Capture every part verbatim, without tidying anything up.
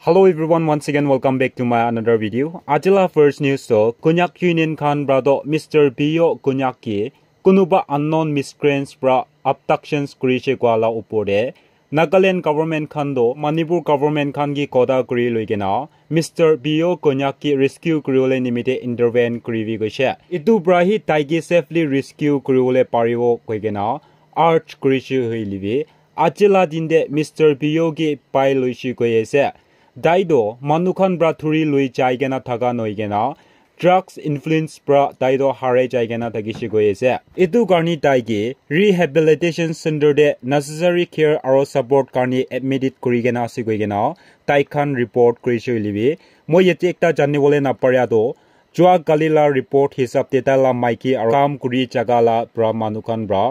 Hello everyone, once again welcome back to my another video. Ajila first news to Konyak Union khan pra to Mister Bio Konyak ki kunuba unknown miscreants pra abductions kurishe kwa la upor de Nagaland government khan to Manipur government khan ki koda kuri loi kena Mister Bio Konyak ki rescue kuriwole nimite intervene kuribi goishe. Itu pra hi tai ki safely rescue kuriwole paribo koi kena urge kurishe hoile bi aji la din de Mister Bio ki pai loishe koi ase. Tai to manu khan pra thuri loi jai kena thaka noi kena drugs influence pra tai to harai jai kena thakishe koi ase. Itu karni tai ki rehabilitation center de necessary care aro support karni admitted kuri kena ase koi kena tai khan report kurishe hoile bi moi yate ekta janibole naparia to jua kali la report hisab te tai la maiki aro kam kuri jaga la pra manu khan pra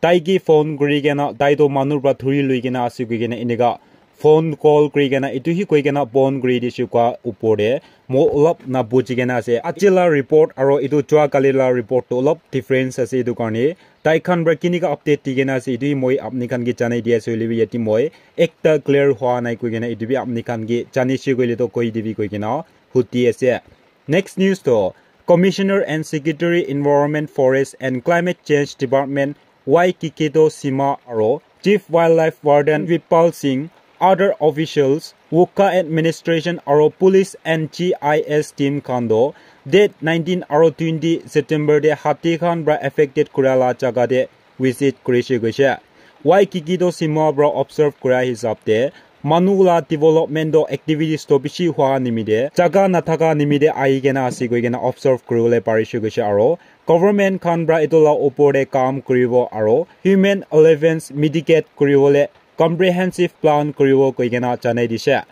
tai ki phone kuri kena tai to manu pra thuri loi kena ase koi kena enika phone call kuri kena itu hi koi kena bon kuri dishe kwa upor de mo olop na buji kena ase. Aji la report aro itu jua kali la report to olop difference ase itu karni tai khan pra kinika update di kena ase itu hi moi apni khan ki janai di ase hoile bi yate moi ekta clear hua nai koi kena itu bi apni khan ki janishe koile to koi dibi koi kena huti ase. Next news to Commissioner and Secretary Environment, Forest and Climate Change Department Y Kikito Sima aro Chief Wildlife Warden Vipal Singh, other officials, Wokha administration aro police and G I S team khan to date nineteen aro twenty September de hati khan pra affected kura la jaga de visit kurishe goishe. Y Kikito Sima pra observe kura hisab de manu la development to activities to bishi hua nimite jaga nathaka nimite ahi kena ase koi kena observe kuribole parishe goishe aro government khan pra itu la upor de kam kuribo aro human allevance mitigate kuribole comprehensive plan kuribo koi kena janai dishe.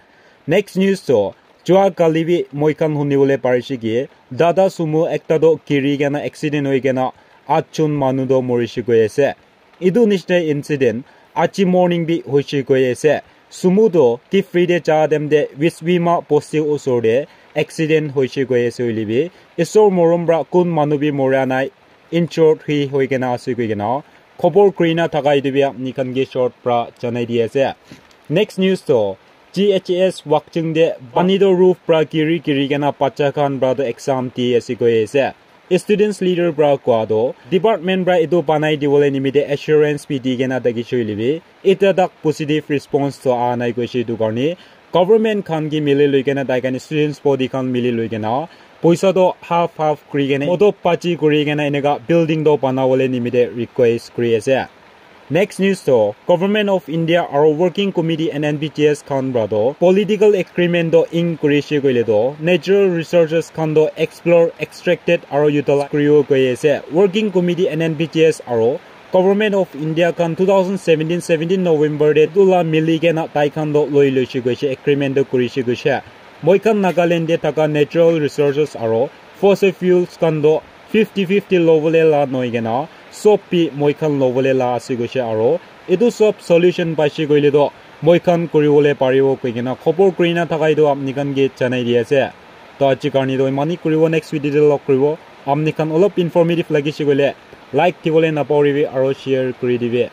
Next news to jua kali bi moi khan hunibole parishe ki dada sumo ekta to giri kena accident hoi kena atjon manu to morishe koi ase. Itu nishina incident aji morning bi hoishe koi ase. Sumo to ki free de ja dem de Wiswima posti osor de accident hoishe koi ase hoile bi isor morom pra kun manu bi mora nai injured hi hoi kena ase koi kena khobor kurina thaka itu bi apni khan ke short pra janai di ase. Next news to G H S Wakching de pani to roof pra giri giri kena bacha khan pra to exam di ase koi ase. Students leader pra koa to department pra itu banai dibole nimite assurance bi di kena thakishe hoile bi ita tak positive response to aha nai koishe itu karni government khan ki mili loi kena tai khan students body khan mili loi kena poisa to half half kuri kena moto pachi kuri kena eneka building to banabole nimite request kuri ase. Next news to Government of India aro Working Committee and N B T S khan pra to political agreement to ink kurishe koile to natural resources khan to explore, extracted aro utilize kuribo koi ase. Working Committee and N B T S aro Government of India khan two thousand seventeen seventeen November de itu la mili kena tai khan to loi loishe goishe agreement to kurishe goishe. Moi khan Nagaland de thaka natural resources aro fossil fuels khan to fifty fifty lobole la noi kena sob bi moi khan lobole la ase goishe aro itu sob solution paishe koile to moi khan kuribole paribo koi kena khobor kurina thaka itu apni khan ke janai di ase. To aji karni to imani kuribo, next video de log kuribo. Apni khan olop informative lagishe koile like dibole napahoribi aro share kuri dibi.